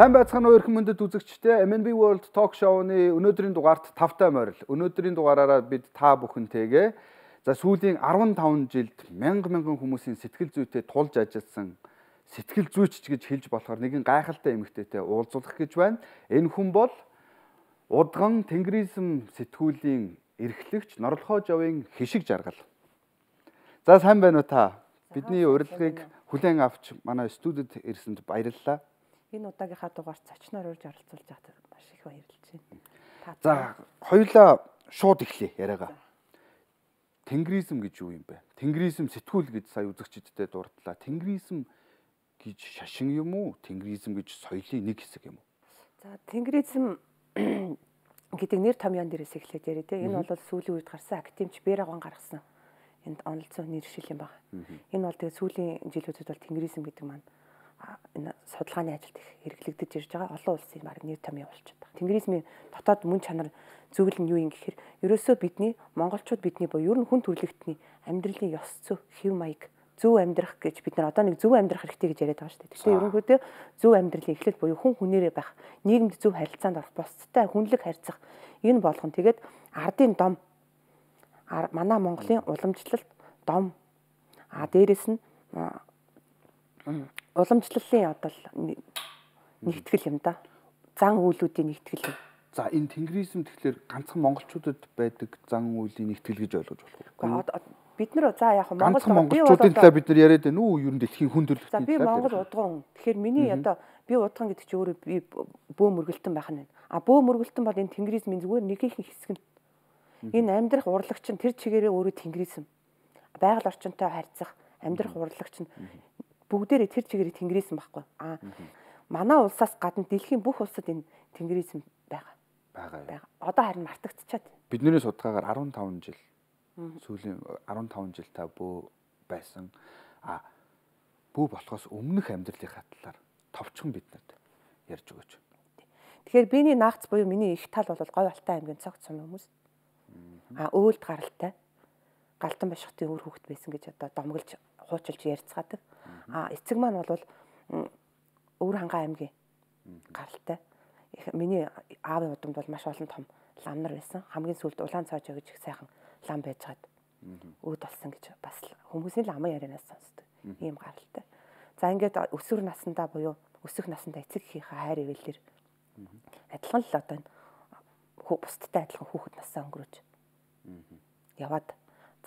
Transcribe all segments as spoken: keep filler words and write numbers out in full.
Сайн байцгаана уу эрхэм мөндөд үзэгчдээ эм эн би World Talk Show-ны өнөөдрийн дугаарт тавтай морил. Өнөөдрийн дугаараараа бид та бүхэнтэйгээ за сүүлийн арван таван жилд мянга мянган хүмүүсийн сэтгэл зүйтэй тулж ажилласан сэтгэл зүйч гэж хэлж болохоор нэгэн гайхалтай эмэгтэйтэй уулзуулах гэж байна. Энэ хүн бол удган тэнгэризм сэтгүүлийн эрхлэгч Норлохоо Жовын хишиг жаргал. За сайн байна уу та? Бидний урилгыг хүлээн авч манай студид ирсэнд баярлалаа. Энэ удаагийнхаа дугаарт зочноор урьж оролцуулж байгаад маш их баярлж байна. За, хоёулаа шууд эхлэе яриагаа. Тэнгэризм гэж юу юм бэ? Тэнгэризм сэтгүүл гэж сая үзэгчдэд дурдлаа. Тэнгэризм гэж шашин юм уу? Тэнгэризм гэж соёлын нэг хэсэг юм уу? За, тэнгэризм гэдэг нэр томьёон дээрээс эхлээд яриа те. Энэ бол сүүлийн үед гарсан академич Берагон гаргасан энд онолцсон нэршил юм байна. Энэ бол тэгээ сүүлийн жилүүдэд бол тэнгэризм гэдэг маань энэ судалгааны ажилд их хэрэглэгдэж ирж байгаа олон улсын баг нэр томьёо болчиход байгаа. Тэнгэризмийн дотоод мөн чанар зөвлөл нь юу юм гэхээр ерөөсөө бидний монголчууд бидний буюу ер нь хүн төрөлхтний амьдралын ёс зүй, хэв маяг, зөв амьдрах гэж бид нар одоо нэг зөв амьдрах хэрэгтэй гэж яриад байгаа шүү дээ. Тэгэхээр ерөнхийдөө зөв амьдралын эхлэл буюу хүн хүнээрээ байх, нийгэмд зөв харилцаанд орох, бусдтай хүнлэг харьцах энэ болгон тэгээд ардын дом манай Монголын уламжлалт дом а дээрэс нь уламжлалын одоо нэгтгэл юм да. Зан үйлүүдийн нэгтгэл юм. За энэ тэнгэризм тэгэхээр ганцхан монголчуудад байдаг зан үйлийн нэгтгэл гэж ойлгож болох уу? Бид нар за яг монголчуудын талаар бид нар яриад байна уу? Ер нь дэлхийн хүн төрөлхтний талаар. За би Монгол удган. Тэгэхээр миний одоо би удган гэдэг чи өөрөө би бөө мөргөлтөн байх нь. А бөө мөргөлтөн бол энэ тэнгэризмийн зүгээр нэг их хэсэг нь. Энэ амьдрах урлагч нь тэр чигээрээ өөрөө тэнгэризм. Байгаль орчинтой харьцах амьдрах урлагч нь бүгдээрээ тэр чигээрээ тэнгэризм байхгүй. А манай улсаас гадна дэлхийн бүх улсад энэ тэнгэризм байгаа. Байгаа. Одоо харин мартагдчихад. Бидний судалгаагаар арван таван жил сүүлийн арван таван жил та бөө байсан. А бөө болохоос өмнөх амьдралынхаа талаар товчхон биднэрт ярьж өгөөч. Тэгэхээр биений наагц буюу миний их тал бол Говь Алтай аймгийн цогц сум хүмүүс. А өөлд гаралтай. Галтан башхтын өөр хүүхэд байсан гэж одоо домголж хуучилж ярьцгаадаг. А эцэг маань бол Өвөр хангаа аймгийн гаралтай. Миний аавын удамд бол маш олон том лам нар байсан. Хамгийн сүүлд Улаан цаажаа гэж их сайхан лам байж хаад өөд болсон гэж бас хүмүүсийн ламын ярианаас сонсдог. Ийм гаралтай. За ингээд өсвөр насндаа буюу өсөх насндаа эцэг эхийнхээ хайр ивэлэр адилхан л одоо бусдтай адилхан хүүхэд нассаа өнгөрөөж яваад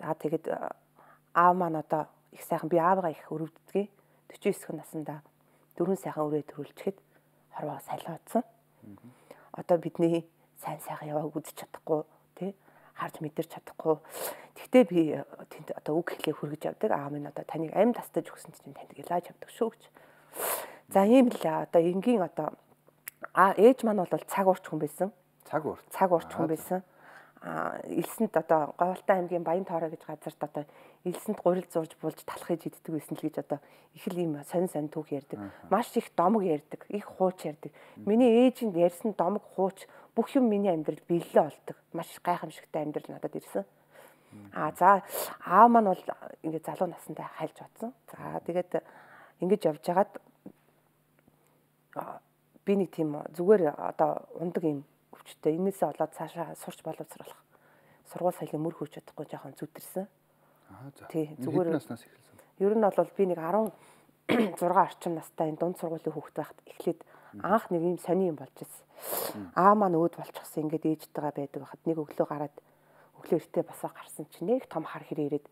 за тэгээд аав маань одоо их сайхан би аавгаа их өрөвддөг. forty nine наснда дөрвөн сайхан өрөө төрүүлчихэд хорвоо салиудсан. Одоо бидний сайн сайхан яваа үзэж чадахгүй тий харж мэдэрч чадахгүй. Тэгтээ би тэнд одоо үг хэлээ хүргэж явдаг. Аа минь одоо таныг амь тастаж өгсөн чинь танд илааж явдаг шүү гэж. За ийм л одоо энгийн одоо аа ээж маань бол цаг уурч хүн байсан. Цаг уурч. Цаг уурч хүн байсан. А элсэнд одоо Говь Алтай аймгийн Баян Тоорой гэж газарт одоо элсэнд гурил зурж булж талах хийж иддэг байсан л гэж одоо их л ийм сонин сонин түүх ярьдаг. Маш их домог ярьдаг, их хууч ярьдаг. Миний ээжинд ярьсан домог хууч бүх юм миний амьдрал биелэлээ олдог. Маш гайхамшигтай амьдрал надад ирсэн. А за аав маань бол ингээд залуу насндаа хайлж бодсон. За тэгээд ингэж явж хагаад би нэг тийм зүгээр одоо ундаг юм өвчтэй. Энээсээ болоод цаашаа сурч боловсруулах. Сургууль соёлын мөр хөөж чадахгүй жоохон зүтэрсэн. Аа за. Тий, зүгээр наснаас эхэлсэн. Ер нь бол би нэг16 орчим настай энэ дунд сургуулийн хүүхэд байхад эхлээд анх нэг юм сони юм болж ирсэн. Аа маань өөд болчихсон ингээд ээжтэйгээ байдаг байхад нэг өглөө гараад өглөө эртээ басаа гарсан чинь нэг том хар хэрэг ирээд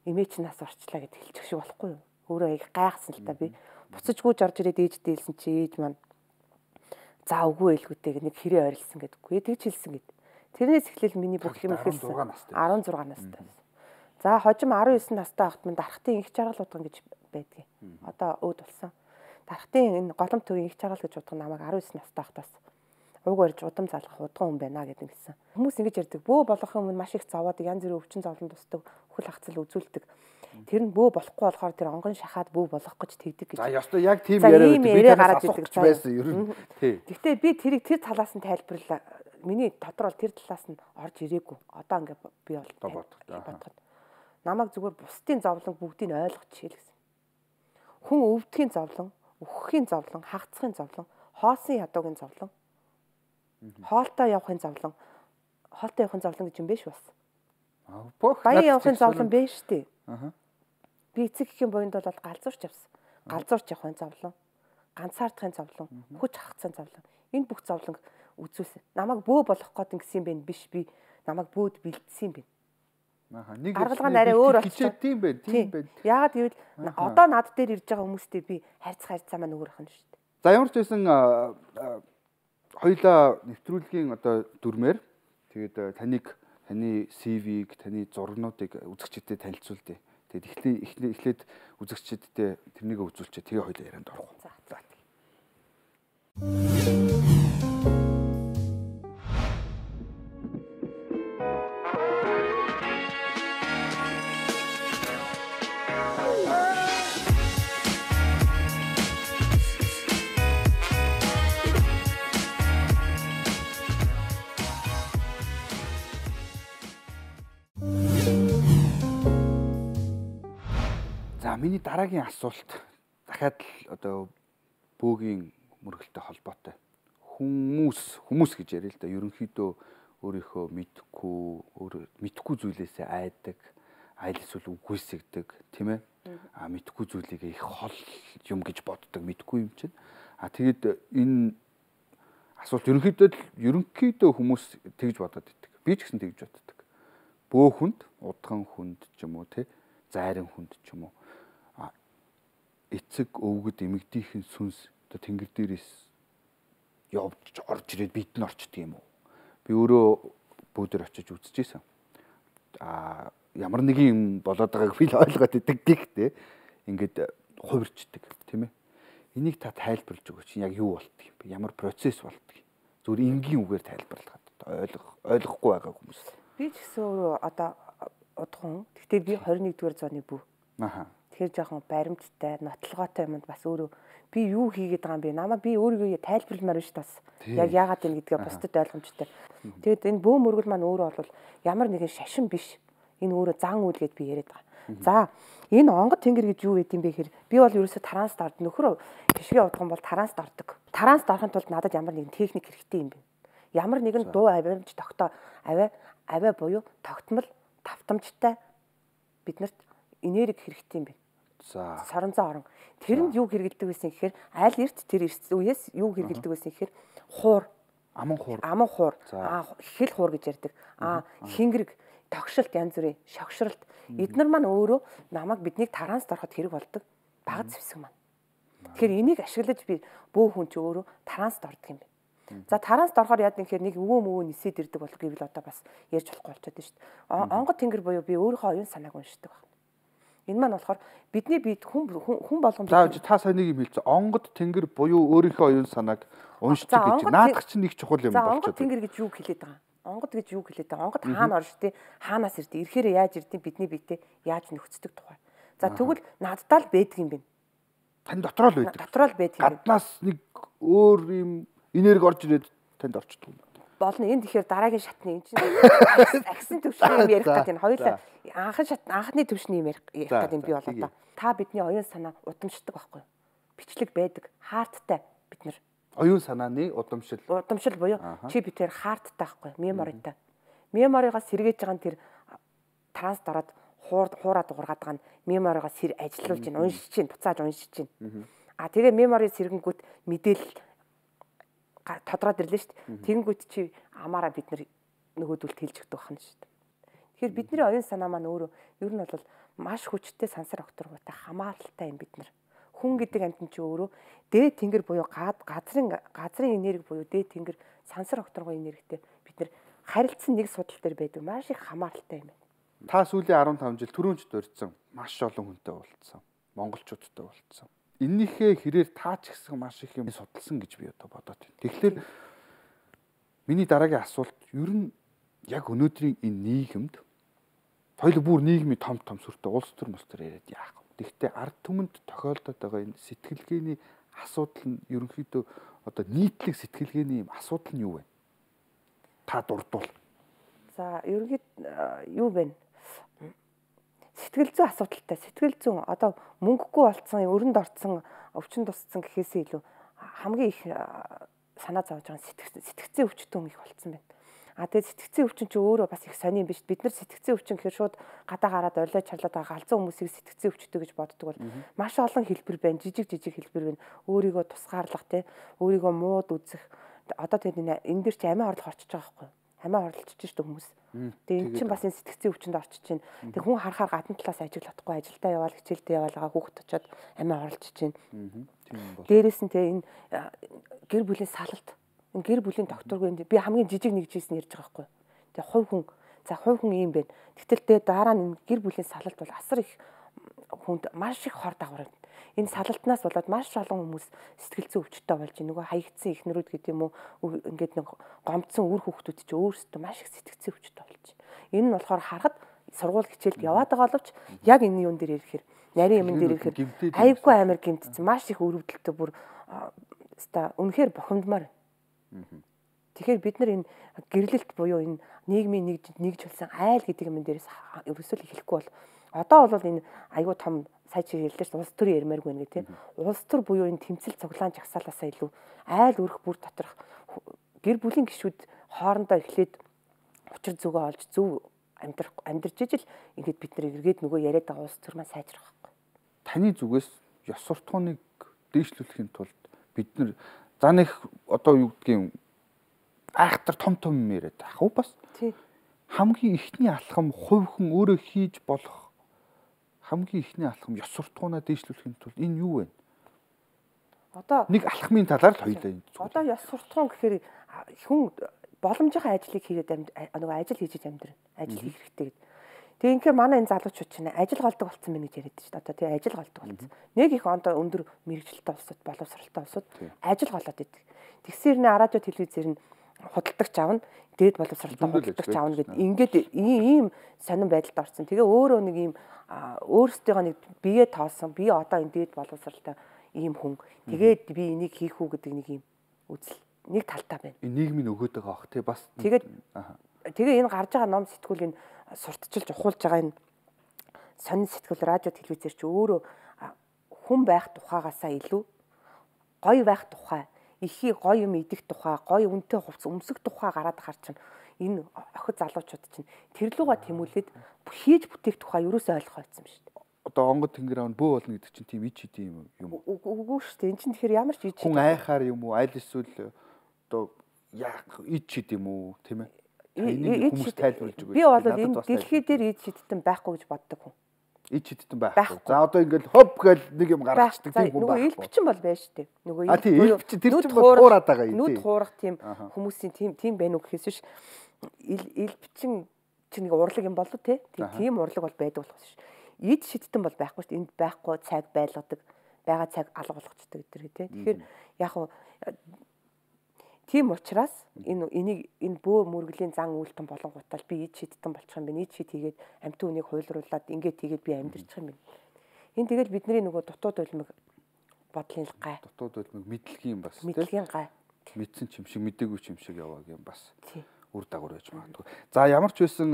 эмээ чи нас орчлаа гэд хэлчих шиг болохгүй юу? Өөрөө их гайхсан л та би. Буцаж гүйж орж ирээд ээжтэй хэлсэн чи ээж маань за үгүй ээлгүүтэй нэг хэрэг ойрлсон гэдэггүй. Тэгж хэлсэн гэд. Тэрнээс эхлээл миний бүх юм ихэлсэн. арван зургаан настай. За хожим арван девять настай байхад минь дархтын их жаргал удган гэж байдгийг. Одоо өөд болсон. Дархтын энэ голом төвийн их жаргал гэж удган намайг арван девять настай байхдаас ууг барьж удам залгах удган хүн байна гэдэг гисэн. Хүмүүс ингэж ярьдаг. Бөө болох юм маш их зовоод янз бүрийн өвчин зовлон тусдаг, үхэл хацал үзүүлдэг. Тэр нь бөө болохгүй болохоор тэр онгон шахаад бөө болох гэж тэгдэг гэж. За ёстой яг тийм яриа байдаг. Би танаас асуух байсан ер нь. Тий. Гэхдээ би тэрийг тэр талаас нь тайлбарлаа. Миний дотор бол тэр талаас нь орж ирээгүй. Одоо ингээд би бол бодоход. Намайг зүгээр бусдын зовлон бүгдийг ойлгочихъя л гэсэн. Хүн өвдгийн зовлон, үхэхийн зовлон, хагацхын зовлон, хоосон ядуугийн зовлон. Хоолтой явахын зовлон. Хоолтой явахын зовлон гэж юм биш бас. Баян явахын зовлон биш шүү дээ. Аа. Би эцэг эхийн буйнд бол галзуурч явсан. Галзуурч явахын зовлон, ганцаардахын зовлон, хүч хахацсан зовлон. Энэ бүх зовлон үзүүлсэн. Намайг бөө болох гээд ингэсэн юм бэ биш би намайг бөөд бэлдсэн юм бэ. Аа. Нэг аргалгаа нарай өөр болчихсон. Тийм бэ, тийм бэ. Яагаад гэвэл одоо над дээр ирж байгаа хүмүүстэй би харьцах харьцаа маань өөр ахна шүү дээ. За ямар ч байсан хоёулаа нэвтрүүлгийн одоо дүрмээр тэгээд таныг таны си ви-г, таны зургнуудыг үзэгчдэд танилцуулъя. Тэгээд эхлээд эхлээд үзэгчдэд тэрнийг үзүүлчихэд тэгээ хоёулаа ярианд орох. За. За. За миний дараагийн асуулт дахиад л одоо бөөгийн мөргөлтэй холбоотой. Хүмүүс хүмүүс гэж яриа л да. Ерөнхийдөө өөрийнхөө мэдхгүй, өөр мэдхгүй зүйлээсээ айдаг, айл эсвэл үгүйсгдэг, тийм ээ? А мэдхгүй зүйлийг их хол юм гэж боддог, мэдхгүй юм чинь. А тэгэд энэ асуулт ерөнхийдөө ерөнхийдөө хүмүүс тэгж бодоод идэг. Би ч гэсэн тэгж боддог. Бөөхөнд, удхан хүнд ч юм уу, тий? Зайран хүнд ч юм уу. Эцэг өвгөд эмэгдийнхэн сүнс одоо тэнгэр дээрээс явж орж ирээд бид нь орчдөг юм уу? Би өөрөө бөөдөр очиж үзчихсэн. Аа ямар нэгэн юм болоод байгааг би л ойлгоод идэг гэхдээ ингээд хувирчдаг тийм ээ. Энийг та тайлбарлаж өгөөч. Яг юу болтго юм бэ? Ямар процесс болтго? Зүгээр энгийн үгээр тайлбарлахад ойлгох ойлгохгүй байгаа хүмүүс. Би ч гэсэн өөрөө одоо удхан. Гэхдээ би двадцать нэгдүгээр зууны бүү. Аха. Тэгэхээр жоохон баримттай, нотлогоотой юмд бас өөрөө би юу хийгээд байгаа юм бэ? Намаа би өөрийгөө тайлбарламаар биш бас. Яг яагаад юм гэдгээ бусдад ойлгомжтой. Тэгээд энэ бөө мөргөл маань өөрөө бол ямар нэгэн шашин биш. Энэ өөрөө зан үйл гэд би яриад байгаа. За, энэ онгод тэнгэр гэж юу гэдэг юм бэ гэхээр би бол ерөөсө тараанс дорд нөхөр хишгээ удган бол тараанс дордог. Тараанс дорохын тулд надад ямар нэгэн техник хэрэгтэй юм бэ? Ямар нэгэн дуу авиамж тогтоо авиа авиа буюу тогтмол тавтамжтай биднэрт энерги хэрэгтэй юм бэ? За. Соронзон орон. Тэрэнд юу хэрэгэлдэг байсан гэхээр аль эрт тэр үеэс юу хэрэгэлдэг байсан гэхээр хуур, аман хуур, аман хуур, аа хэл хуур гэж ярьдаг. Аа хингэрэг, тогшилт янз бүрийн шогшролт. Эднэр маань өөрөө намайг биднийг тараанс дороход хэрэг болдог. Бага зэвсэг маань. Тэгэхээр энийг ашиглаж би бөө хүн ч өөрөө тараанс дордог юм байна. За тараанс дорохоор яад гэхээр нэг өвөө мөвөө нисээд ирдэг болох гэвэл одоо бас ярьж болохгүй болчиход шүү дээ. Онгод тэнгэр буюу би өөрийнхөө оюун санааг уншдаг байна. Энэ маань болохоор бидний бид хүн хүн болгоомж. За та сая нэг юм хэлсэн. Онгод тэнгэр буюу өөрийнхөө оюун санааг уншдаг гэж. Наадах чинь нэг чухал юм болчиход. За онгод тэнгэр гэж юу хэлээд байгаа? Онгод гэж юу хэлээд байгаа? Онгод хаана орж тий? Хаанаас ирдэ? Ирэхээр яаж ирдэ? Бидний биетэй яаж нөхцдөг тухай. За тэгвэл наддаа л байдаг юм байна. Тань дотроо л байдаг. Дотроо л байдаг. Гаднаас нэг өөр юм энерги орж ирээд танд орчдөг юм. Болно. Энэ тэгэхээр дараагийн шатны энэ чинь агсын төвшний юм ярих гэдэг энэ хоёулаа анхны шат анхны төвшний юм ярих гэдэг юм би бол одоо та бидний оюун санаа удамшдаг байхгүй юу? Бичлэг байдаг, хаарттай бид нар. Оюун санааны удамшил. Удамшил буюу чи битээр хаарттай байхгүй юу? Меморитай. Меморигоос сэргээж байгаа нь тэр транс дараад хуур хуураад дуургаад байгаа нь меморигоос сэр ажилуулж чинь, уншиж чинь, буцааж уншиж чинь. А тэгээ мемори сэргэнгүүт мэдээлэл тодроод ирлээ шүү дээ. Тэгэнгүүт чи амаараа бид нар нөгөөдөлд хэлж өгдөг байна шүү дээ. Тэгэхээр бидний оюун санаа маань өөрөө ер нь бол маш хүчтэй сансар окторгуутай хамааралтай юм бид нар. Хүн гэдэг амьтан чи өөрөө дээд тэнгэр буюу газрын газрын энерги буюу дээд тэнгэр сансар окторгуу энергитэй бид нар харилцсан нэг судал дээр байдаг маш их хамааралтай юм байна. Та сүүлийн арван таван жил түрүүнч дурдсан маш олон хүнтэй уулзсан. Монголчуудтай уулзсан. Энийхээ хэрээр таа ч гэсэн маш их юм судалсан гэж би одоо бодоод байна. Тэгэхээр миний дараагийн асуулт ер нь яг өнөөдрийн энэ нийгэмд хоёул бүр нийгмийн том том сүртэй улс төр мус төр яриад яах вэ? Тэгэхдээ ард түмэнд тохиолдоод байгаа энэ сэтгэлгээний асуудал нь ерөнхийдөө одоо нийтлэг сэтгэлгээний юм асуудал нь юу вэ? Та дурдвал. За ерөнхийд юу вэ? Сэтгэл зүйн асуудалтай. Сэтгэл зүйн одоо мөнгөгүй болцсон, өрөнд орцсон, өвчин тусцсан гэхээсээ илүү хамгийн их санаа зовж байгаа сэтгцийн өвчтөн их болцсон байна. А тэгээд сэтгцийн өвчин ч өөрөө бас их сонирн биш. Бид нар сэтгцийн өвчин гэхээр шууд гадаа гараад орлоо чарлаад байгаа галзуу хүмүүсийг сэтгцийн өвчтөй гэж боддог бол маш олон хэлбэр байна. Жижиг жижиг хэлбэр байна. Өөрийгөө тусгаарлах тий, өөрийгөө мууд үзэх. Одоо тэгээд энэ дээр чи амиа хорлох орчиж байгаа байхгүй юу? Амиа хорлолцож шүү дээ хүмүүс. Тэгээд энэ чинь бас энэ сэтгцийн өвчөнд орчиж чинь. Тэг хүн харахаар гадна талаас ажиглахгүй ажилдаа яваал, хичээлдээ яваалгаа хүүхэд очоод амиа хорлолцож чинь. Дээрээс нь тэг энэ гэр бүлийн салалт гэр бүлийн докторгүй би хамгийн жижиг нэг жийсэн ярьж байгаа байхгүй. Тэгээ хувь хүн за хувь хүн юм байна. Гэтэл тэгээ дараа нь гэр бүлийн салалт бол асар их хүнд маш их хор дагавар. Энэ салалтнаас болоод маш олон хүмүүс сэтгэл зүйн өвчтөй болж нөгөө хаягдсан ихнэрүүд гэдэг юм уу ингээд нэг гомдсон үр хүүхдүүд чи өөрсдөө маш их сэтгэл зүйн өвчтөй болж. Энэ нь болохоор харахад сургууль хичээлд яваад байгаа боловч яг энэ юун дээр ирэхээр нарийн юм дээр ирэхээр айгүй амар гэмтсэн маш их өрөвдөлтөй бүр ста үнэхээр бохомдмаар. Тэгэхээр бид нар энэ гэрлэлт буюу энэ нийгмийн нэгж нэгж болсон айл гэдэг юм дээрээс ерөөсөө л хэлэхгүй бол одоо бол энэ аюу том сая чи хэлдэж улс төр ярмааргүй нэ тийм улс төр буюу энэ тэмцэл цуглаан жагсаалаасаа илүү айл өрх бүр доторх гэр бүлийн гишүүд хоорондоо эхлээд учир зүгөө олж зөв амьдрах амьдарч ижил ингээд бид нар эргээд нөгөө яриад байгаа улс төр маань сайжрах байхгүй. Таны зүгээс ёс суртахууныг дээшлүүлэхийн тулд бид нар за нэг одоо юу гэдгийг айхтар том том юм яриад ах уу бас хамгийн ихний алхам хувь хүн өөрөө хийж болох хамгийн ихний алхам ёс суртахуунаа дээшлүүлэхийн тулд энэ юу вэ? Одоо нэг алхмын талаар л хоёлаа энэ. Одоо ёс суртахуун гэхээр хүн боломжтой ажлыг хийгээд нөгөө ажил хийж амьдрна. Ажил хийх хэрэгтэй гэдэг. Тэгээ инхээр манай энэ залуучууд чинь ажил голдог болсон байна гэж яриад шүү дээ. Одоо тэгээ ажил голдог болсон. Нэг их ондоо өндөр мэрэгжилтэй улсууд боловсралтай улсууд ажил голоод идэг. Тэгсээр нэ радио телевизээр нь худалдагч аавна, дээд боловсралтай худалдагч аавна гэдэг. Ингээд ийм сонирн байдалд орсон. Тэгээ өөрөө нэг ийм өөрсдийнхөө нэг бие тоосон, би одоо энэ дээд боловсралтай ийм хүн. Тэгээд би энийг хийх үү гэдэг нэг ийм үзэл нэг талтай байна. Энэ нийгмийн өгөөд байгаа ах тий бас. Тэгээд тэгээ энэ гарч байгаа ном сэтгүүл энэ сурталчилж ухуулж байгаа энэ сонин сэтгүүл радио телевизээр ч өөрөө хүн байх тухайгаасаа илүү гоё байх тухай, ихий гоё юм идэх тухай, гоё үнэтэй хувцас өмсөх тухай гараад хар чинь энэ охид залуучууд чинь тэр луга тэмүүлээд хийж бүтээх тухай ерөөсөө ойлгох байсан шүү дээ. Одоо онгод тэнгэр аав бөө болно гэдэг чинь тийм ич идэм юм уу? Үгүй шүү дээ. Энд чинь тэгэхээр ямар ч ич хүн айхаар юм уу? Аль эсвэл одоо яах ич идэм үү, тийм ээ? Энийг хүмүүс тайлбарлаж өгөөч. Би бол энэ дэлхий дээр ич шидтэн байхгүй гэж боддог хүн. Ич шидтэн байхгүй. За одоо ингээл хоп гэл нэг юм гаргацдаг тийм хүн байхгүй. Нөгөө элбчин бол байж тээ. Нөгөө А тийм элбчин тэр чинь бол хуураад байгаа юм. Нүд хуурах тийм хүмүүсийн тийм тийм байна уу гэхээс биш. Элбчин чинь нэг урлаг юм болов те. Тийм урлаг бол байдаг болох шүү. Ид шидтэн бол байхгүй шүү. Энд байхгүй цаг байлгадаг. Бага цаг алга болгочдөг гэдэг те. Тэгэхээр яг уу тийм учраас энэ энийг энэ бөө мөргөлийн зан үйлтэн болонгуудаа би ид шидтэн болчих юм байна. Ид шид хийгээд амьд үнийг хуйлруулад ингээд тэгээд би амьдэрчих юм байна. Энэ тэгэл бидний нөгөө дутууд улмыг бодлын гай. Дутууд улмыг мэдлэгийн бас тийм. Мэдлэгийн гай. Мэдсэн ч юм шиг мэдээгүй ч юм шиг явааг юм бас. Үр дагавар байж магадгүй. За ямар ч байсан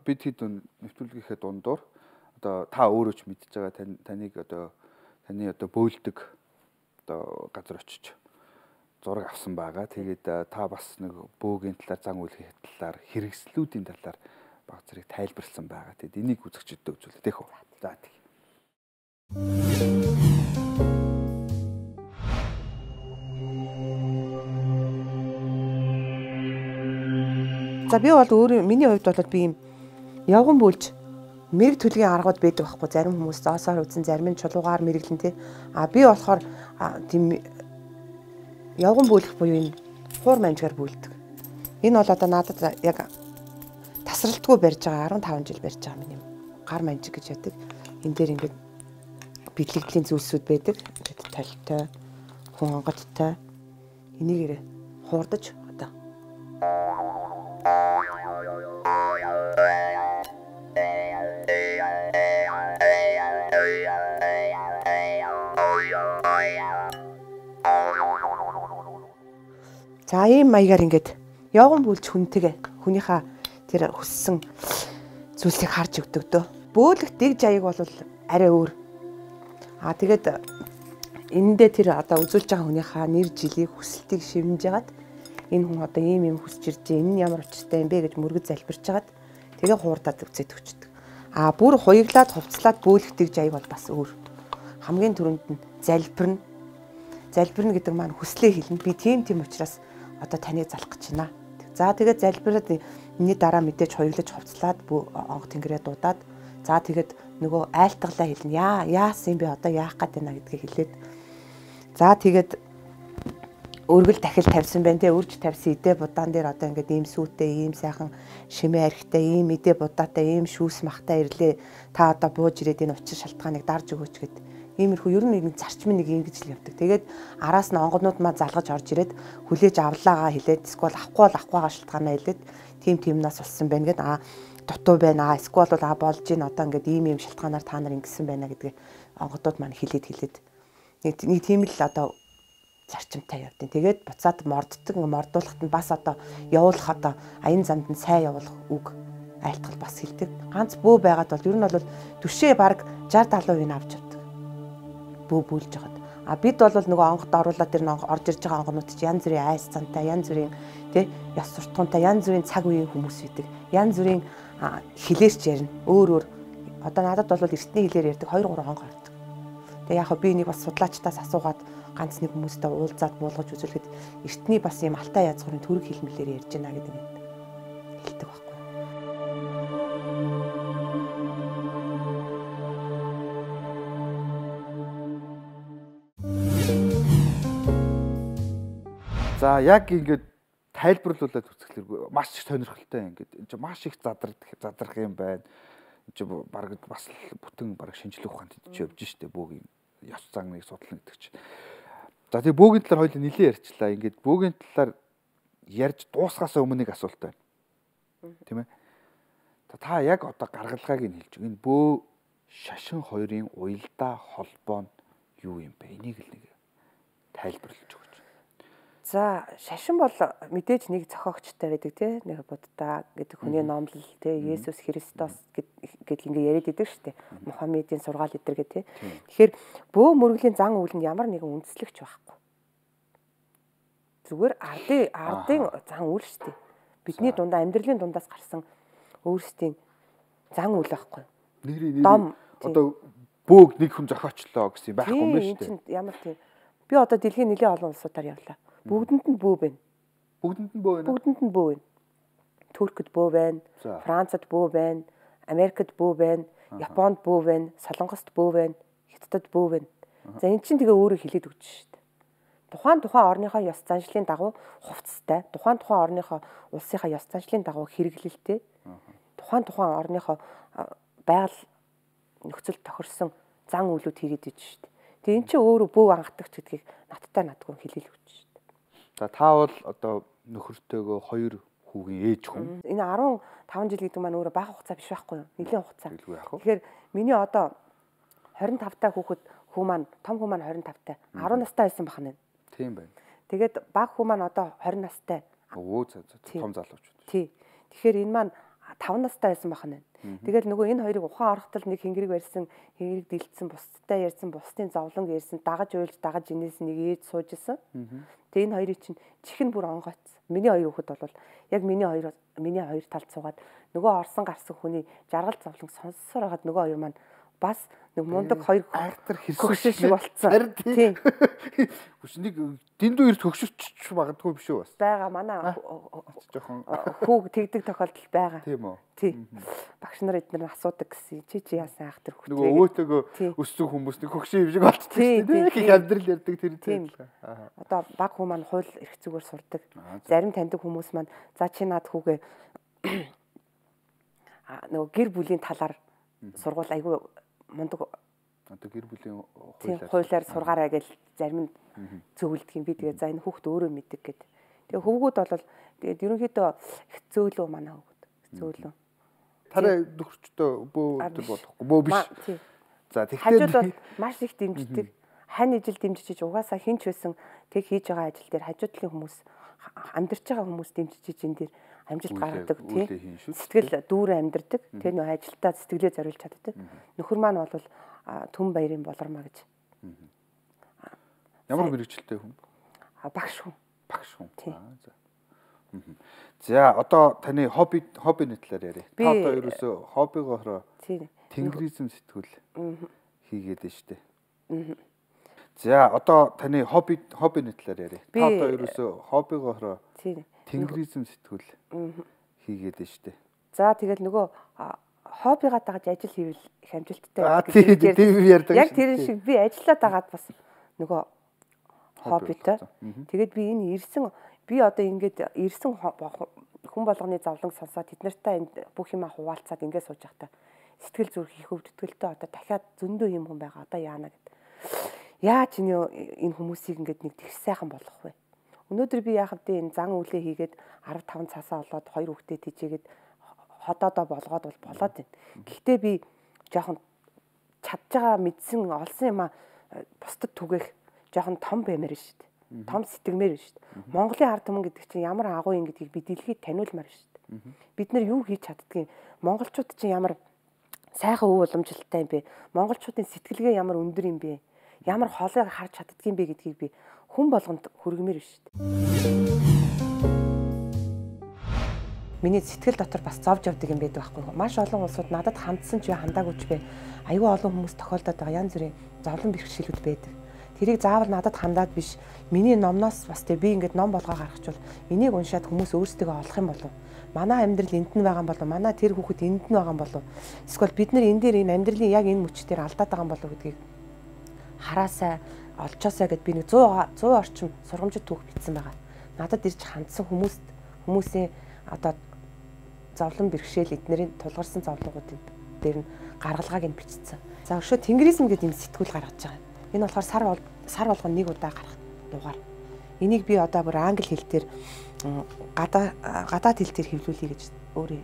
бид хэд нэвтрүүлгийнхээ дундуур одоо та өөрөө ч мэдж байгаа таныг одоо таны одоо бөөлдөг одоо газар очиж зураг авсан байгаа. Тэгээд та бас нэг бөөгийн талаар, зан үйлгийн талаар, хэрэгслүүдийн талаар баг зэрэг тайлбарлсан байгаа. Тэгээд энийг үзэгчдэд үзүүлээ тех үү. За тийм. За би бол өөрөө миний хувьд бол би юм явган бүлж мэрэг төлгийн аргууд байдаг байхгүй. Зарим хүмүүс зоосоор үзэн, зарим нь чулуугаар мэрэглэн тий. А би болохоор тийм явган бүлэх буюу энэ хуур манжгаар бүлдэг. Энэ бол одоо надад яг тасралтгүй барьж байгаа арван таван жил барьж байгаа миний гар манжиг гэж яддаг. Энэ дээр ингээд бидлэгдлийн зүйлсүүд байдаг. Ингээд толтой, хүн онгодтой. Энийгээр хуурдаж одоо За ийм маягаар ингээд явган бүлж хүнтэйгээ хүнийхээ тэр хүссэн зүйлсийг харж өгдөг дөө. Бөөлөх дэг жаяг бол арай өөр. Аа тэгээд энэндээ тэр одоо үзүүлж байгаа хүнийхээ нэр жилийг хүсэлтийг шивнэж ягаад энэ хүн одоо ийм юм хүсэж ирж байна. Энэ нь ямар учиртай юм бэ гэж мөргөд залбирч ягаад тэгээ хуурдаад үцээд өгчдөг. А бүр хуйглаад хувцлаад бөөлгдөг жайг бол бас өөр. Хамгийн түрүүнд нь залбирна. Залбирна гэдэг маань хүслээ хэлнэ. Би тийм тийм учраас одоо таныг залах гэж байна. За тэгээд залбираад миний дараа мэдээж хуйглаж хувцлаад онго тэнгэрээ дуудаад за тэгээд нөгөө айлтгалаа хэлнэ. Яа яасан би одоо яах гээд байна гэдгийг хэлээд за тэгээд өргөл дахил тавьсан байна те үрж тавьсан идэ будаан дээр одоо ингээд ийм сүйтэй ийм сайхан шимээ архтай ийм идэ будаатай ийм шүүс махтай ирлээ та одоо бууж ирээд энэ учир шалтгааныг дарж өгөөч гэд иймэрхүү ер нь нэг зарчмын нэг ингэж л явдаг. Тэгээд араас нь онгонууд маа залгаж орж ирээд хүлээж авлаагаа хэлээд эсвэл авахгүй бол авахгүйгаа шалтгаанаа хэлээд тим тимнаас болсон байна гэд аа дутуу байна аа эсвэл бол аа болж ийн одоо ингээд ийм ийм шалтгаанаар та нар ингэсэн байна гэдгийг онгодууд маань хэлээд хэлээд нэг нэг тийм л одоо зарчимтай явдیں۔ Тэгээд буцаад морддог мордуулахад нь бас одоо явуулах одоо аян замд нь сайн явуулах үг айлтгал бас хэлдэг. Ганц бөө байгаад бол ер нь бол түшээ баг шестьдесят70% нь авч явдаг. Бөө бүлж жагаад. А бид бол нөгөө онгод оруулаад тэр нэг орж ирж байгаа онгонууд чи янз бүрийн айс цантай, янз бүрийн тий яс суртахуунтай, янз бүрийн цаг үеийн хүмүүс идэг. Янз бүрийн хилээрч ярина. Өөр өөр одоо надад бол эртний хилээр ярьдаг хоёр гурван онгоо ярьдаг. Тэгээ яг би нэг бас судлаачтаас асуугаад ганц нэг хүмүүстэй уулзаад буулгаж үзүүлэхэд эртний бас юм алтай язгуурын төрөг хэлмэлээр ярьж байна гэдэг нь хэлдэг байхгүй. За яг ингээд тайлбарлуулаад үзэхлээр маш их сонирхолтой ингээд энэ чинь маш их задрах задрах юм байна. Энэ чинь баг бас бүтэн баг шинжлэх ухаанд идэж явж штэ бөөгийн ёс заныг судлах гэдэг чинь. За тэгээ бөөгийн талаар хоёул нэлээд ярьчлаа. Ингээд бөөгийн талаар ярьж дуусгахаас өмнө нэг асуулт байна. Тийм ээ. Та яг одоо гаргалгааг нь хэлж байгаа. Энэ бөө шашин хоёрын уялдаа холбоо нь юу юм бэ? Энийг л нэг тайлбарлаж өгөөч. За шашин бол мэдээж нэг зохиогчтой байдаг тий нэг буддаа гэдэг хүний номлол тий Есүс Христос гэдэг ингээ яриад идэг штэ Мухаммедийн сургаал идэр гэдэг тий. Тэгэхээр бөө мөргөлийн зан үйл нь ямар нэгэн үндэслэгч байхгүй. Зүгээр ардын ардын зан үйл штэ. Бидний дундаа амьдралын дундаас гарсан өөрсдийн зан үйл байхгүй. Нэрийн нэр одоо бөөг нэг хүн зохиочлоо гэсэн байхгүй юм байна штэ. Ямар тийм би одоо дэлхийн нэлээд олон улсуудаар явлаа. Бүгдэнд нь бөө байна. Бүгдэнд нь бөө байна. Бүгдэнд нь бөө байна. Туркид бөө байна, Францад бөө байна, Америкт бөө байна, Японд бөө байна, Солонгост бөө байна, Хятадд бөө байна. За эн чинь тэгээ өөрөө хэлээд өгч шүү дээ. Тухайн тухайн орныхоо ёс заншлын дагуу хувцастай, тухайн тухайн орныхоо улсынхаа ёс заншлын дагуу хэрэглэлтэй, тухайн тухайн орныхоо байгаль нөхцөл тохирсон зан үйлүүд хийгээд иж шүү дээ. Тэгээ эн чинь өөрөө бөө ангадагч гэдгийг надтай надгүй хэлээл өгч шүү дээ. За та бол одоо нөхөртөөгөө хоёр хүүгийн ээж хүн. Энэ арван таван жил гэдэг маань өөрөө бага хугацаа биш байхгүй юу? Нэлийн хугацаа. Тэгэхээр миний одоо хорин тав таа хүүхэд хүү маань том хүү маань хорин тав таа арван настай байсан бахна. Тийм байна. Тэгээд бага хүү маань одоо хорин настай. Өө за том залууч. Тий. Тэгэхээр энэ маань таван настай байсан бахна. Тэгэл нөгөө энэ хоёрыг ухаан орохтол нэг хингэрэг барьсан, хингэрэг дэлдсэн, бусдтай ярьсан, бусдын зовлон ярьсан, дагаж уйлж дагаж инээс нэг ээж сууж исэн. Тэгээ энэ хоёрыг чинь чихэн бүр онгойц. Миний хоёр хүүхэд бол яг миний хоёр миний хоёр талд суугаад нөгөө орсон гарсан хүний жаргал зовлон сонссоор хагаад нөгөө хоёр маань бас нэг мундаг хоёр айхтар хэрсэх шиг болцсон. Тийм. Хүч нэг дэндүү эрт хөгшөвч магадгүй биш үү бас. Бага манай жоохон хүүг тэгдэг тохиолдол байгаа. Тийм үү. Тийм. Багш нар эдгээр асуудаг гэсэн. Чи чи яасан айхтар хөгшөө. Нөгөө өвөөтэйгөө өссөн хүмүүс нэг хөгшөө юм шиг болчихсон тийм. Их амьдрал ярьдаг тэр тийм. Одоо баг хүмүүс маань хууль эрх зүгээр сурдаг. Зарим таньдаг хүмүүс маань за чи над хүүгээ нөгөө гэр бүлийн талаар сургууль айгүй мундаг одоо гэр бүлийн хуулиар хуулиар сургаарай гэж зарим нь зөвлөдөг юм. Би тэгээ за энэ хүүхд өөрөө мэддэг гэд. Тэгээ хөвгүүд бол тэгээд ерөнхийдөө их зөөлөө манай хөвгүүд. Зөөлөө. Тараа нөхөрчдөө бөө өдөр болохгүй. Бөө биш. За тэгэхээр хажууд бол маш их дэмждэг. Хань ижил дэмжиж угаасаа хинч байсан тэг хийж байгаа ажил дээр хажуудлын хүмүүс амьдарч байгаа хүмүүс дэмжиж энэ дээр амжилт гаргадаг тий. Сэтгэл дүүрэн амьдардаг. Тэр нөө ажилдаа сэтгэлээ зориулж чаддаг. Нөхөр маань бол түн баярын болормоо гэж Ямар мэрэгчлээ хүн? А багш хүн. Багш хүн. Аа за. За одоо таны хобби хоббины талаар яриа. Та одоо ерөөсөө хоббигоороо тэнгэризм сэтгүүл хийгээд байна шүү дээ. За одоо таны хобби хоббины талаар яриа. Та одоо ерөөсөө хоббигоороо тэнгэризм сэтгүүл хийгээд байна шүү дээ. За тэгэл нөгөө хоббигаа дагаж ажил хийвэл их амжилттай байдаг гэж ярьдаг. Яг тэр шиг би ажиллаад байгаад бас нөгөө хоббитой. Тэгээд би энэ ирсэн би одоо ингээд ирсэн хүн болгоны зовлон сонсоод тэд нартай бүх юма хуваалцаад ингээд сууж байхдаа сэтгэл зүрх их өвдөлтөлтэй одоо дахиад зөндөө юм хүн байгаа одоо яана гэд. Яаж энэ хүмүүсийг ингээд нэг тэгш сайхан болгох вэ? Өнөөдөр би яах вэ? Энэ зан үйлээ хийгээд арав таван цаасаа олоод хоёр хүүхдэд тийжээгээд ходоодоо болгоод бол болоод байна. Гэхдээ би жоохон чадж байгаа мэдсэн олсон юм а бусдад түгэх жоохон том баймаар шүү дээ. Том сэтгэмээр шүү дээ. Монголын ард түмэн гэдэг чинь ямар агуу юм гэдгийг би дэлхийд таниулмаар шүү дээ. Бид нар юу хийж чаддгийг монголчууд чинь ямар сайхан өв уламжлалтай юм бэ? Монголчуудын сэтгэлгээ ямар өндөр юм бэ? Ямар хоолойг харж чаддгийг бэ гэдгийг би хүн болгонд хүргэмээр шүү дээ. Миний сэтгэл дотор бас зовж явдаг юм байдаг байхгүй юу? Маш олон улсууд надад хандсан ч хандаагүй ч бэ. Аюу олон хүмүүс тохиолдоод байгаа янз бүрийн зовлон бэрхшээлүүд байдаг. Тэрийг заавал надад хандаад биш. Миний номноос бас тэг би ингээд ном болгоо гаргачвал энийг уншаад хүмүүс өөрсдөө олох юм болов. Манай амьдрал энд нь байгаа юм болов. Манай тэр хүүхэд энд нь байгаа юм болов. Эсвэл бид нар энэ дээр энэ амьдралын яг энэ мөчтөр алдаад байгаа юм болов гэдгийг хараасаа олчоосаа гэд би нэг сто орчим сургамжид түүх бичсэн байгаа. Надад ирж хандсан хүмүүст хүмүүсийн одоо зовлон бэрхшээл эднэрийн тулгарсан зовлонгуудын дээр нь гаргалгааг нь бичсэн. За өшөө тэнгэризм гэдэг юм сэтгүүл гаргаж байгаа. Энэ болохоор сар сар болгоно нэг удаа гарах дугаар. Энийг би одоо бүр англи хэл дээр гадаа гадаад хэл дээр хэвлүүлэе гэж өөрөө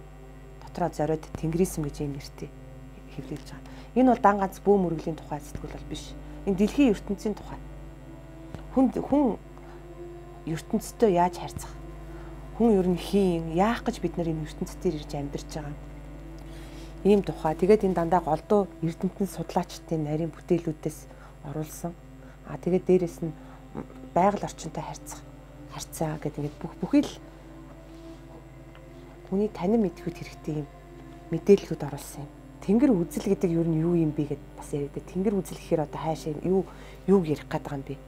дотроо зориод тэнгэризм гэж юм нэртэй хэвлүүлж байгаа. Энэ бол дан ганц бөө мөргөлийн тухай сэтгүүл бол биш. Энэ дэлхийн ертөнцийн тухай. Хүн хүн ертөнцтэй яаж харьцах? Хүн ер нь хийн, яах гэж бид нар энэ ертөнцийн ирж амьдарч байгаа ийм тухай. Тэгээд энэ дандаа голдуу эрдэмтэн судлаачдын нарийн бүтээлүүдээс оруулсан. А тэгээд дээрэс нь байгаль орчинтой харьцах, харьцаа гэдэг ингээд бүх бүхий л хүний танин мэдхэд хэрэгтэй юм мэдээллүүд оруулсан юм. Тэнгэр үзэл гэдэг юу нь юу юм бэ гэд бас яриад. Тэнгэр үзэл гэхээр одоо хаашаа юу юуг ярих гээд байгаа юм бэ?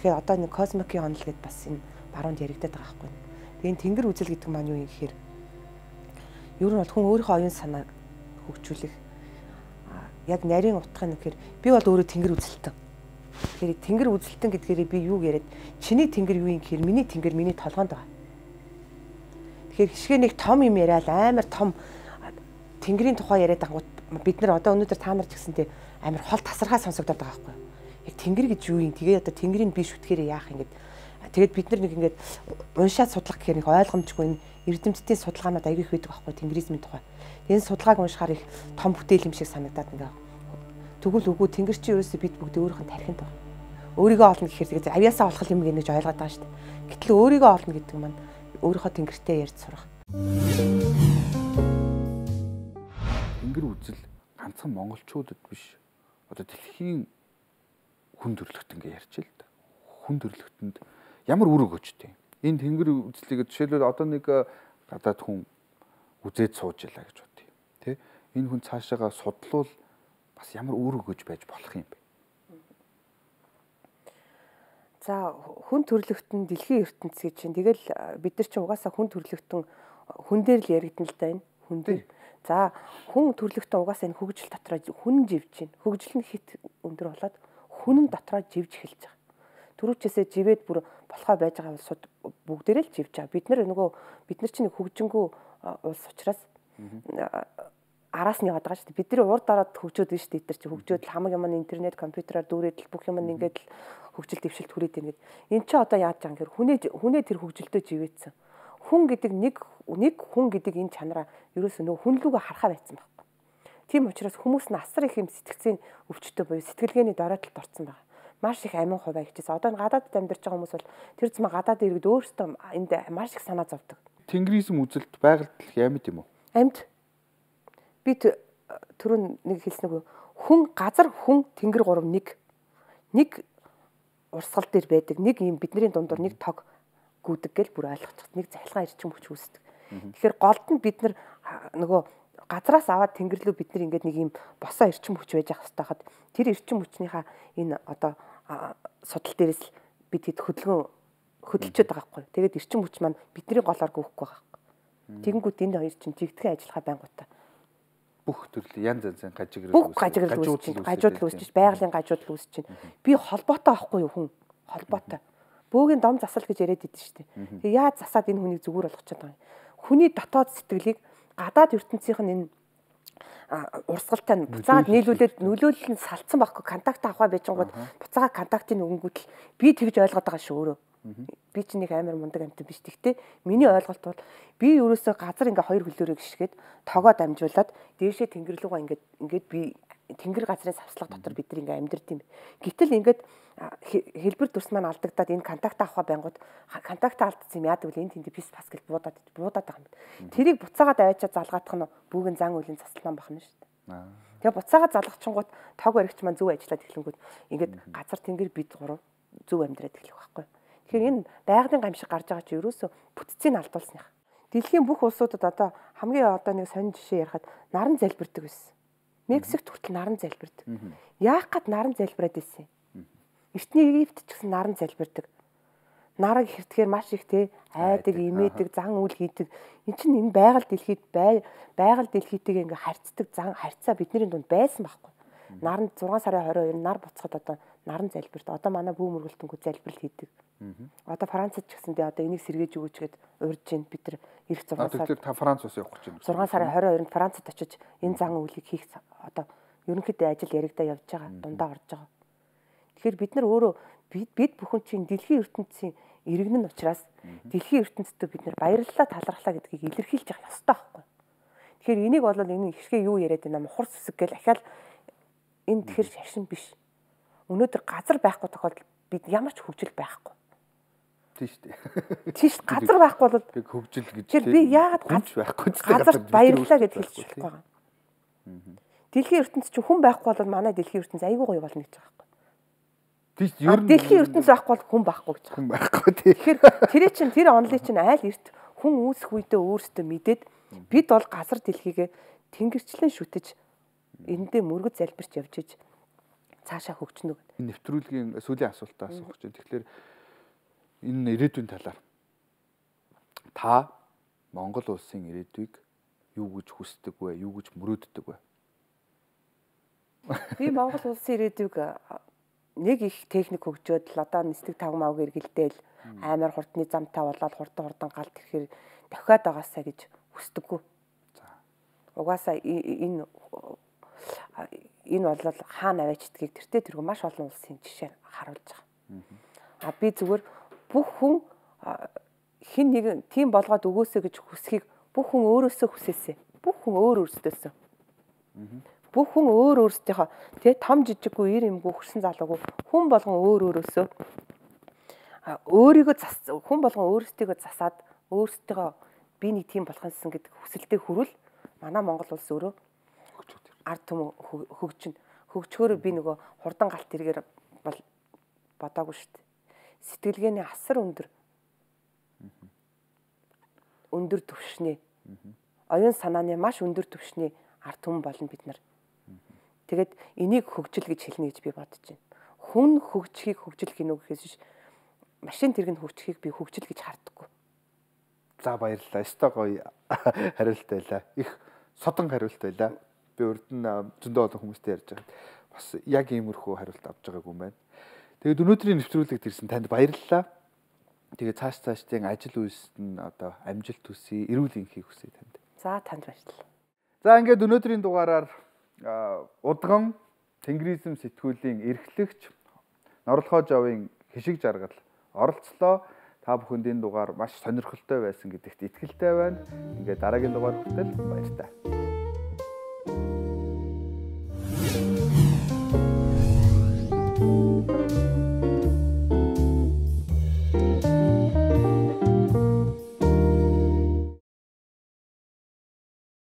Тэгэхээр одоо нэг космикийн онол гэд бас энэ баруунд яригадаад байгаа байхгүй. Тэгээд тэнгэр үзэл гэдэг маань юу юм гэхээр ер нь бол хүн өөрийнхөө оюун санааг хөгжүүлэх яг нарийн утгын гэхээр би бол өөрөө тэнгэр үзэлтэн. Тэгэхээр тэнгэр үзэлтэн гэдгээрээ би юу яриад чиний тэнгэр юу юм гэхээр миний тэнгэр миний толгоонд байгаа. Тэгэхээр хишгээ нэг том юм яриад амар том тэнгэрийн тухай яриад ангууд бид нар одоо өнөөдөр та нар ч гэсэнтэй амар хол тасархаа сонсогдоод байгаа байхгүй. Яг тэнгэр гэж юу юм? Тэгээ одоо тэнгэрийг би шүтгэхээрээ яах юм гээд тэгээд бид нар нэг ингээд уншаад судлах гэхээр нэг ойлгомжгүй энэ эрдэмтдийн судалгаанууд аягүй их байдаг байхгүй тэнгэризмийн тухай. Энэ судалгааг уншихаар их том бүтээл юм шиг санагдаад ингээ. Тэгвэл үгүй тэнгэр чи ерөөсөө бид бүгд өөрийнх нь тархинд байна. Өөрийгөө олно гэхээр тэгээд авьяасаа олох юм гэж ойлгоод байгаа шүү дээ. Гэтэл өөрийгөө олно гэдэг маань өөрийнхөө тэнгэртэй ярьж сурах. Тэнгэр үзэл ганцхан монголчуудад биш. Одоо дэлхийн хүн төрлөخت ингээ ярьж л да. Хүн төрлөختөнд ямар үүрэг өчтэй. Энэ тэнгэр үзлийг жишээлбэл одоо нэг гадаад хүн үзээд сууж ялаа гэж бодъё. Тэ? Энэ хүн цаашаага судлуул бас ямар үүрэг өгж байж болох юм бэ? За хүн төрлөختөн дэлхийн ертөнцийн чинь тэгэл бид нар чинь угаасаа хүн төрлөختөн хүн дээр л яригдана л да энэ хүн дээр. За хүн төрлөختөн угаасаа энэ хөгжил дотроо хүн живж байна. Хөгжил нь хит өндөр болоод хүн нь дотроо живж эхэлж байгаа. Түрүүчээсээ живээд бүр болохоо байж байгаа улсууд бүгдээрээ л живж байгаа. Бид нар нөгөө бид нар чинь хөгжингүү улс учраас араас нь яваад байгаа шүү дээ. Бид нар урд дараад хөгжөөд байна шүү дээ. Бид нар чи хөгжөөд л хамаг юм интернет, компьютераар дүүрээд л бүх юм ингээд л хөгжил дэвшилт хүрээд байна гэдэг. Энд чи одоо яаж байгаа юм гэхээр хүнээ хүнээ тэр хөгжилтөө живээдсэн. Хүн гэдэг нэг нэг хүн гэдэг энэ чанараа ерөөсөө нөгөө хүн лүгөө харахаа байцсан байхгүй. Тийм учраас хүмүүс нь асар их юм сэтгцийн өвчтөй буюу сэтгэлгээний дороотолд орсон байгаа. Маш их амин хуваа хичээс. Одоо гадаадд амьдарч байгаа хүмүүс бол тэр зам гадаад иргэд өөрсдөө энд маш их санаа зовдөг. Тэнгэризм үзэлт байгальд амьд юм уу? Амьд. Би түрүүн нэг хэлсэн нэг хүн газар хүн тэнгэр гурав нэг нэг урсгал дээр байдаг. Нэг юм бидний дундуур нэг тог гүдэг гэл бүр ойлгочих. Нэг захилгаан эрчим хүч үүсдэг. Тэгэхээр голд нь бид нар нөгөө газраас аваад тэнгэр рүү бид нар ингээд нэг юм босоо эрчим хүч байж ах хэвээр хаад тэр эрчим хүчнийхаа энэ одоо судал дээрээс л бид хэд хөдөлгөөн хөдөлчөөд байгаа байхгүй. Тэгээд эрчим хүч маань бидний голоор гүйхгүй байгаа байхгүй. Тэгэнгүүт энэ хоёр чинь жигдхэн ажиллахаа байнгутаа бүх төрлийн янз янзын гажиграл бүх гажиграл үүсэж чинь гажуудал үүсэж чинь байгалийн гажуудал үүсэж чинь би холбоотой байхгүй юу хүн холбоотой бөөгийн дом засал гэж яриад идэв шүү дээ. Тэгээ яаж засаад энэ хүнийг зүгээр болгочиход байгаа юм. Хүний дотоод сэтгэлийг гадаад ертөнцийнх нь энэ урсгалтай нь буцаад нийлүүлээд нөлөөлөл нь салцсан байхгүй контакт авах байжгууд буцаага контактыг өнгөтл би тэгж ойлгоод байгаа шүү өөрөө. Би чинь нэг амар мундаг амтан биш. Тэгтээ миний ойлголт бол би ерөөсөө газар ингээ хоёр хөлөөрөө гიშгээд тогоо дамжуулаад дээшээ тэнгэр лугаа ингээд ингээд би тэнгэр газрын савслага дотор бид нар ингээ амьдрт юм. Гэтэл ингээд хэлбэр төрс маань алдагдаад энэ контакт авах байнгут контакт алдсан юм яадаг вэ энэ тэнд пис пас гэж буудаад буудаад байгаа юм. Тэрийг буцаагаад аваачаа залгаадах нь бүгэн зан үеийн засалман бахна шүү дээ. Тэгээ буцаагаад залгachингууд тог баригч маань зөв ажиллаад эхлэнгүүт ингээд газар тэнгэр бид гурав зөв амьдраад эхлэх байхгүй. Тэгэхээр энэ байгалийн гамшиг гарч байгаа чи ерөөсөө бүтцийг алдуулсных. Дэлхийн бүх улсуудад одоо хамгийн одоо нэг сонин жишээ ярихад наран залбирдаг байсан. Мексикт хүртэл наран залбирдаг. Яах гээд наран залбираад байсан юм? Эртний Египт ч гэсэн наран залбирдаг. Нараг хэртгэхээр маш их те айдаг, имээдэг, зан үйл хийдэг. Энд чинь энэ байгаль дэлхийд байгаль дэлхийтэйг ингээ харьцдаг зан харьцаа бидний дунд байсан байхгүй. Наран зургаан сарын хорин хоёр нар буцахад одоо наран залбирт. Одоо манай бүү мөргөлтөнгөө залбирал хийдэг. Одоо Францад ч гэсэндээ одоо энийг сэргээж өгөөч гэд урьж ийн бид нар ирэх зургаан сар. Тэгэхээр та Франц ус явах гэж байна. зургаан сарын хорин хоёрнд Францад очиж энэ зан үйлийг хийх одоо ерөнхийдөө ажил яригдаа явж байгаа. Дундаа орж байгаа. Тэгэхээр бид нар өөрөө бид бид бүхэн чинь дэлхийн ертөнцийн иргэн нь учраас дэлхийн ертөнцид бид нар баярлалаа талархлаа гэдгийг илэрхийлж явах ёстой байхгүй. Тэгэхээр энийг бол энэ ихрхээ юу яриад байна мухар сүсэг гэл ахаал энэ тэр шашин биш. Өнөөдөр газар байхгүй тохиолдолд бид ямар ч хөгжил байхгүй. Тийш үү. Тийш газар байхгүй бол би хөгжил гэж тэр би яагаад байхгүй газар баярлалаа гэж хэлж болохгүй байгаа. Дэлхийн ертөнц чинь хүн байхгүй бол манай дэлхийн ертөнц айгүй гоё болно гэж байгаа байхгүй. Тийш ер нь дэлхийн ертөнц байхгүй бол хүн байхгүй гэж байгаа. Хүн байхгүй тий. Тэгэхээр тэр чинь тэр онлын чинь айл эрт хүн үүсэх үедээ өөрсдөө мэдээд бид бол газар дэлхийгээ тэнгэрчлэн шүтэж эндээ мөргөд залбирч явж иж цаашаа хөгжнө гэдэг. Энэ нэвтрүүлгийн сүүлийн асуултаа асуух гэж. Тэгэхээр энэ ирээдүйн талаар та Монгол улсын ирээдүйг юу гэж хүсдэг вэ? Юу гэж мөрөөддөг вэ? Би Монгол улсын ирээдүйг нэг их техник хөгжөөд л одоо нисдэг тавмааг эргэлдээл амар хурдны замтай болоод хурдан хурдан галт ирэхээр дахиад байгаасаа гэж хүсдэггүй. За. Угаасаа энэ энэ бол хаана аваачдгийг тэртээ тэргүй маш олон улсын жишээ харуулж байгаа. А би зүгээр бүх хүн хин нэг тийм болгоод өгөөсэй гэж хүсхийг бүх хүн өөрөөсөө хүсээсэй. Бүх хүн өөр өөрсдөөсөө. Бүх хүн өөр өөрсдийнхөө тэгээ том жижиггүй ир юмгүй хөрсөн залуугүй хүн болгон өөр өөрөөсөө өөрийгөө зас хүн болгон өөрсдийгөө засаад өөрсдөө би нэг тийм болох юмсан гэдэг хүсэлтэд хүрвэл манай Монгол улс өөрөө ард түмэн хөгжин хөгжөхөөрөө би нөгөө хурдан галт тэргээр бол бодоогүй шүү дээ. Сэтгэлгээний асар өндөр өндөр түвшний оюун санааны маш өндөр түвшний ард түмэн болно бид нар. Тэгээд энийг хөгжил гэж хэлнэ гэж би бодож байна. Хүн хөгжихийг хөгжил гинөө гэхээс биш машин тэрэг нь хөгжихийг би хөгжил гэж хардаггүй. За баярлалаа. Өстой гоё хариулт байлаа. Их содон хариулт байлаа. Би урд нь зөндөө олон хүмүүстэй ярьж байгаа. Бас яг иймэрхүү хариулт авч байгаагүй юм байна. Тэгээд өнөөдрийн нэвтрүүлэгт ирсэн танд баярлалаа. Тэгээд цааш цаашдын ажил үйлсэд нь одоо амжилт хүсье, эрүүл энхийг хүсье танд. За танд баярлалаа. За ингээд өнөөдрийн дугаараар удган тэнгэризм сэтгүүлийн эрхлэгч Норлохоо Жовын хишиг жаргал оролцлоо. Та бүхэнд энэ дугаар маш сонирхолтой байсан гэдэгт итгэлтэй байна. Ингээд дараагийн дугаар хүртэл баяр таа.